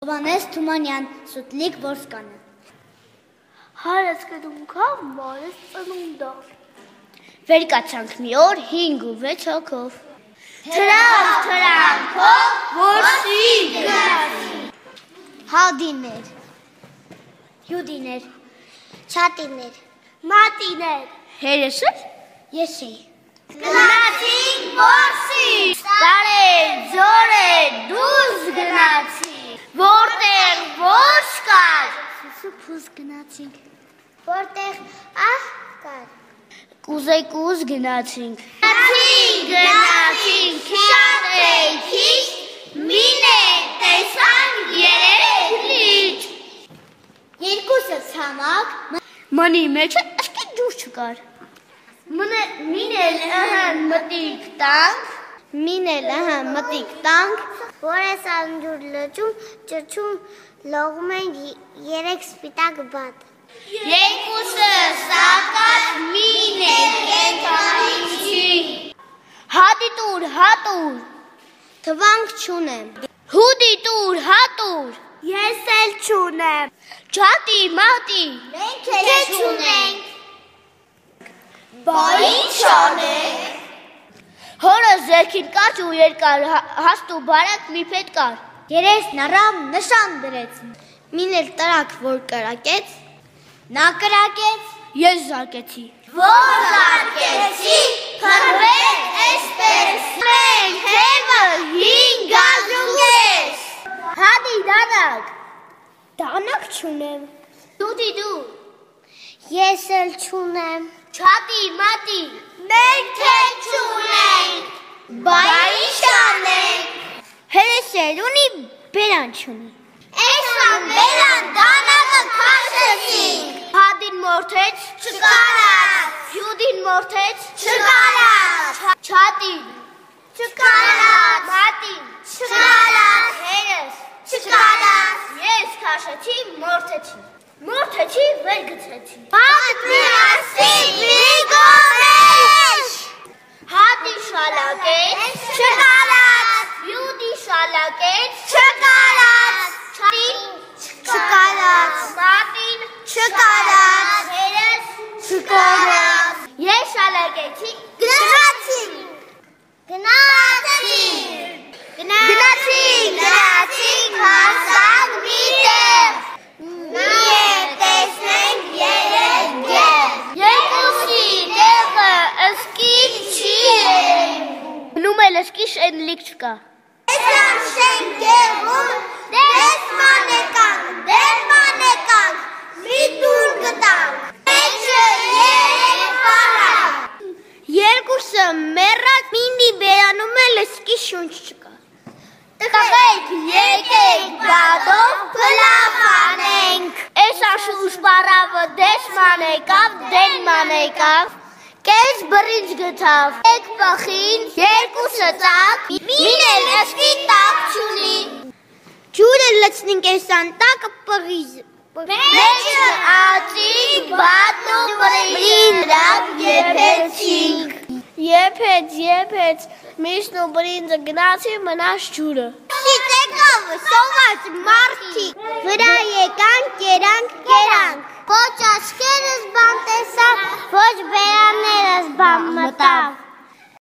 Հովհաննես Թումանյան, Սուտլիկ Որսկանը։ Հարս կդունքավ մարս ծնունդա։ Վեր կացանք մի օր 5 ու 6 հոգով։ Թրանքով որսի գնացի։ Հալդիներ, Հյուդիներ, Չատիներ, Մատիներ, Հերեսը, Եսի։ Գնացինք որսի, տարեր, ձորեր, դուրս գնացի, որտեղ ոչ կար, Սուսուփուս գնացինք, որտեղ ահ կար, կուզեկուզ գնացինք, գնացինք, շատ էի քիչ, միներ տեսանք երեք լիճ, երկուսը ցամաք, մանի մեջը ըսկի ջուր չկար, մինել մտիկ տանք, մտիկ տանք, որ ես անջուր լճում, ճրջում լողում են երեք սպիտակ բատ, երկուսը սակած մինել կենթանի չի, հատի տուր, թվանք չունեմ, հուդի տուր, հատուր, ես էլ չունեմ, չատի, մատի, մենք էլ չունենք, բա ինչ անենք, հորը զերքին կաչ ու երկար, հաստ ու բարակ մի պետ կար, երեսն առավ նշան դրեց, մինել տրակ, որ կրակեց, նա կրակեց, ես զարկեցի, որ զարկեցի, փրվեց էսպես, մենք հևը 5 գազունգես, հադի դանակ չունեմ, դուդի դու, ես էլ չունեմ, չատի, մատի, մենք էլ չունենք, բա ինչ անենք, հերես էլ ունի, բերան չունի, էսան բերան դանակը քաշեցինք, հադին մորթեց, չկարած, հյուդին մորթեց, չկարած, չատին, չկարած, մատին, չկարած, հերես, չկարած, ես քաշեցի, մորթեցի, վեր գցեցի, Հատ միասին մի գորեշ, հատի շալակեց, չկարած, հյուդի շալակեց, չկարած, չատին, չկարած, մատին, չկարած, հերես, չկարած, ես շալակեցի, գնացինք, հասանք մի տեղ, միև տեսնենք երեք գեղ, երկուսի տեղը ըսկի չի գնում էլ ըսկի շենլիկ չկա, Տեսան շենքերում, դեսման եկանք, մի տուր գտանք, մեջը երեք պարակ, երկուսը մեռակ մինի բերանում էլ ըսկի շունչ չկա, տղայք եկեք բադով պլավանենք, Էս աշուշ պարավը դեսման եկավ, դենման եկավ, կեզ բրինջ գտավ, եկ պխին, երկուսը ծակ, մինել ըսկի տակ չունի, ջուրը լցնինք էսան տակը պղիզ, մեջը ածինք, բատն ու բրին դրակ եփեցինք, եփեց, միշն ու բրինձը գնացի մնաց ջուրը, Շիտեկով սոված մարդիկ, վրա եկանք, կերանք, ոչ աչքերս բան տեսավ, ոչ բերաններս բան մտավ,